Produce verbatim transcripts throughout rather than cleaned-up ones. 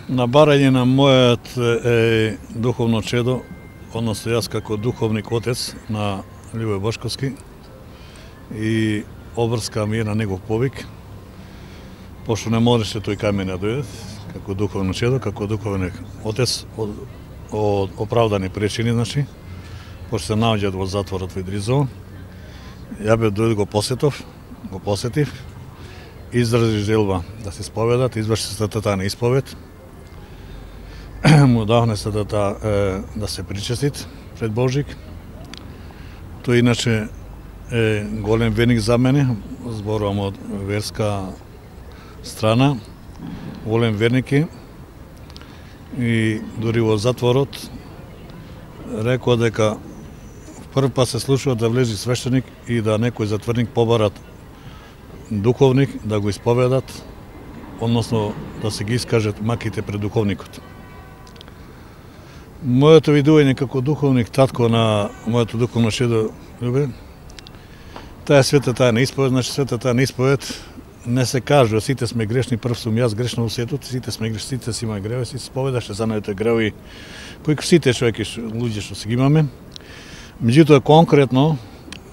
На барање на мојот е, духовно чедо, односно јас како духовник отец на Љубе Бошковски и обрскам ја на негов повик, пошто не можеше тој кај мене да дојде, како духовно чедо, како духовен отец од, од оправдани причини, значи, пошто се наоѓаат во затворот во Идризово. Ја бе дојде го посетов, го посетив, изрази желба да се исповедат, изврши светата на исповед, му дахне се да, да, да се причестит пред Божик. Тој иначе е голем верник за мене, зборувам од верска страна, голем верник е. И дури во затворот рекоа дека прв пат се случува да влези свештеник и да некој затворник побарат духовник да го исповедат, односно да се ги искажат маките пред духовникот. Моето видување како духовник татко на моето духовно чедо Љубе, таа света таа на исповед, значи света таа на исповед не се кажува, сите сме грешни, прв сум јас грешно во светот, сите сме грешни, сите си има греви, сите споведаше за најте греви, кои сите човеки, луѓе што се ги имаме. Меѓутоа конкретно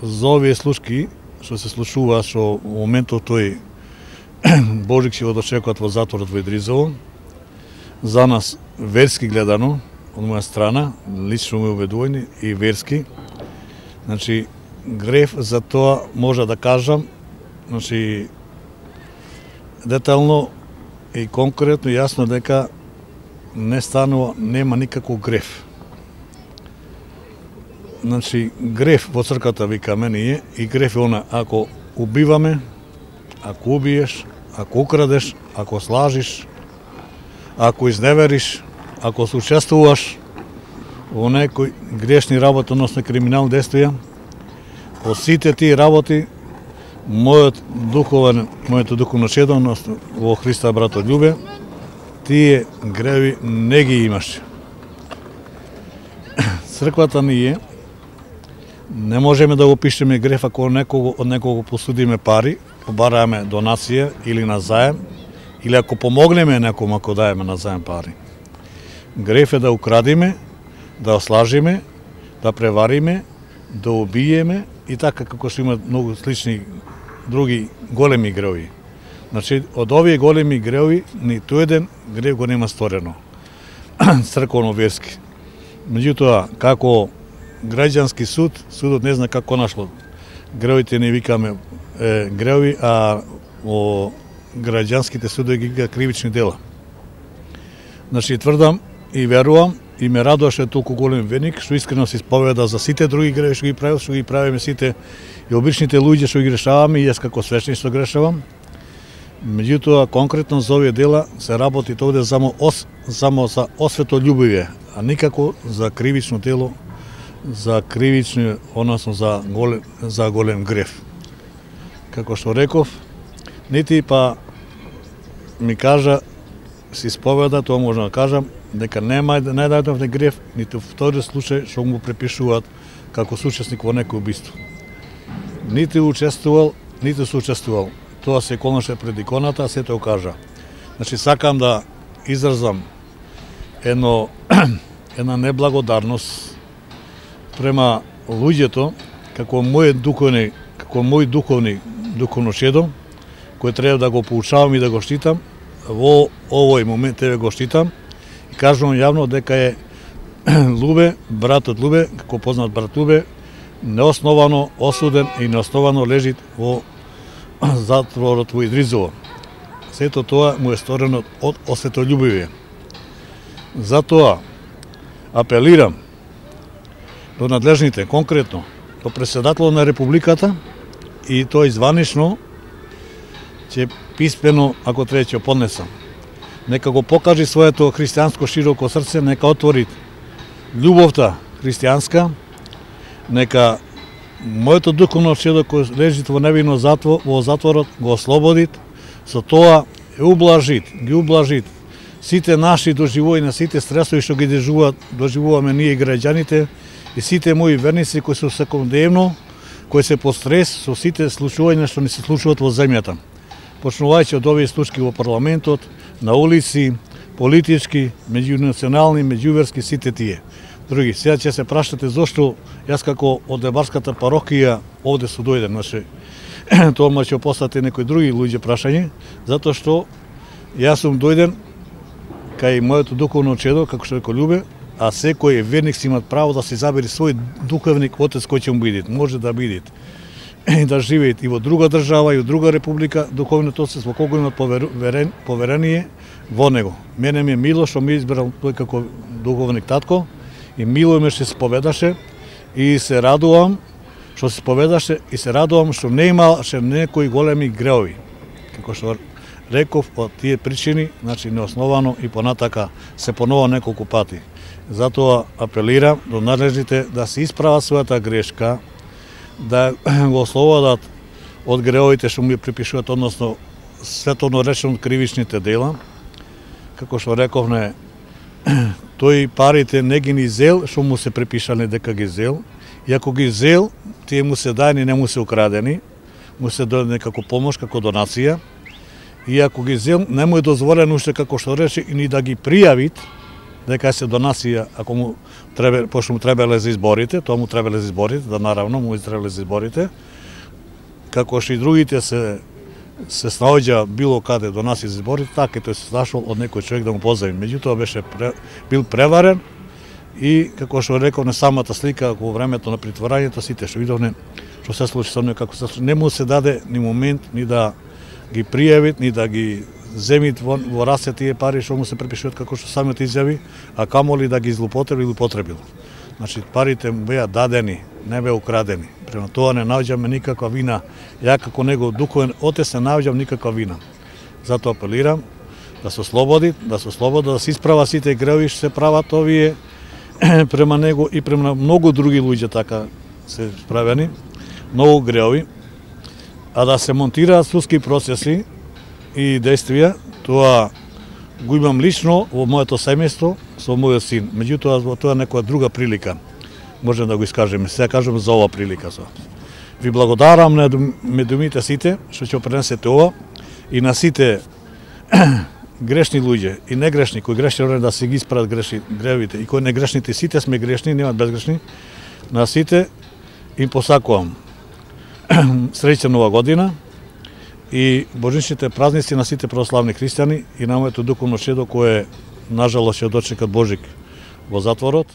за овие случаи што се случува, што во моментот тој Божик ќе го дочекуваат во затворот во Идризово, за нас верски гледано, од моја страна, лично ме убедување и верски, значи греф за тоа може да кажам, значи детално и конкретно јасно дека не станува, нема никаков греф. Значи греф во црквата викаме ние и греф е она ако убиваме, ако убиеш, ако украдеш, ако слажиш, ако изневериш, ако се учествуваш во некои грешни работи, односно криминални действија, по сите тие работи мојот духовен, моето духовно чедо, односно во Христа брато Љубе, тие греви не ги имаше. Црквата ние не можеме да го пишеме греф ако некого, од некого посудиме пари, побараме донација или на заем, или ако помогнеме некому ако даеме на заем пари. Греф е да украдиме, да ослажиме, да превариме, да убиеме и така како што има многу слични други големи греви. Значи, од овие големи греви, ниту еден грев го нема сторено. Црковно-верски. Меѓутоа, како граѓански суд, судот не зна како нашло. Гревите не викаме е, греви, а во граѓанските судови ги викаат кривични дела. Значи, тврдам и верувам, и ме радуваше толку голем верник, што искрено се исповеда за сите други греви што ги правил, што ги правиме сите и обичните луѓе што ги грешаваме, и јас како свештеник што грешавам. Меѓутоа, конкретно за овие дела се работи овде само, ос, само за освето љубивие, а никако за кривично дело, за кривично, односно за голем, за голем греф. Како што реков, нити па ми кажа, се исповеда, тоа можам да кажам, дека нема најдајдов не греф, ниту втори случај што му препишуваат како соучесник во некој убиство. Нити учествувал, ниту соучествувал. Тоа се колнаше пред иконата, а се тоа кажа. Значи, сакам да изразам едно, една неблагодарност према луѓето, како мој духовни, како мој духовни, духовно чедо, кој треба да го поучавам и да го штитам, во овој момент тебе го штитам, и кажувам јавно дека е Љубе, братот Љубе, како познат брат Љубе, неосновано осуден и неосновано лежи во затворот во Идризово. Сето тоа му е сторено од осветољубивие. Затоа апелирам до надлежните, конкретно, до председателот на Републиката и тој званично ќе писмено, ако треба ќе поднесам. Нека го покажи своето христијанско широко срце, нека отвори љубовта христијанска, нека моето духовно чедо кој лежи во невино затвор, во затворот го ослободит, со тоа е ублажит, ги ублажит сите наши доживувања, сите стресови што ги доживуваат, доживуваме ние граѓаните и сите мои верници кои се секојдневно, кои се под стрес со сите случувања што ни се случуваат во земјата. Почнувајќи од овие случаи во парламентот, на улици, политички, меѓунационални, меѓуверски, сите тие. Други, сега ќе се прашате зошто јас како од Дебарската парохија овде су дојден, значи тоа ма ќе постате некои други луѓе прашање, затоа што јас сум дојден кај моето духовно чедо, како што рекол Љубе, а секој верник си имат право да се забери свој духовник отец кој ќе му биде, може да биде и да живеат и во друга држава и во друга република, духовниот отец во кого имат поверен, поверение во него. Мене ми е мило што ми избрал тој како духовник татко и мило ме што се поведаше и се радувам што се поведаше и се радувам што не имаше некои големи греови. Како што реков, од тие причини, значи неосновано и понатака се понова неколку пати. Затоа апелирам до надлежните да се исправат својата грешка, да го ослободат од греовите што му ја припишуваат, односно световно речено кривичните дела. Како што рековме, тој парите не ги ни зел, што му се припишале дека ги зел, и ако ги зел, тие му се дајни, не му се украдени, му се дојде како помош, како донација, и ако ги зел, не му е дозволено уште како што рече и ни да ги пријавит, дека се донација, ако му требе, пошто му требале за изборите, тоа му требале за изборите, да наравно му требале за изборите, како што и другите се се снаоѓа било каде донација за изборите, така и тој се нашол од некој човек да му позави. Меѓутоа беше пре, бил преварен и како што реков на самата слика во времето на притворањето, сите што видовме што се случи со него, како се случи, не му се даде ни момент ни да ги пријавит, ни да ги земит во, во расе тие пари што му се припишуваат, како што самиот изјави, а камоли да ги злоупотребил или потребил. Значи парите му беа дадени, не беа украдени. Према тоа не наоѓаме никаква вина. Ја како негов духовен отец не наоѓам никаква вина. Затоа апелирам да се ослободи, да се ослободи, да се исправа сите греови што се прават овие према него и према многу други луѓе така се справени, многу греови, а да се монтираат судски процеси и действија, тоа го имам лично во моето семејство со мојот син. Меѓутоа, тоа е некоја друга прилика. Можем да го искажеме. Сега кажем за ова прилика. Ви благодарам на медумите сите што ќе пренесете ова и на сите грешни луѓе и негрешни, кои грешни да се ги исправат грешни гревите и кои негрешните, сите сме грешни, нема безгрешни. На сите им посакувам среќна нова година и божичните празници на сите православни христијани и на моето духовно чедо кое нажалост ќе дочекат Божик во затворот.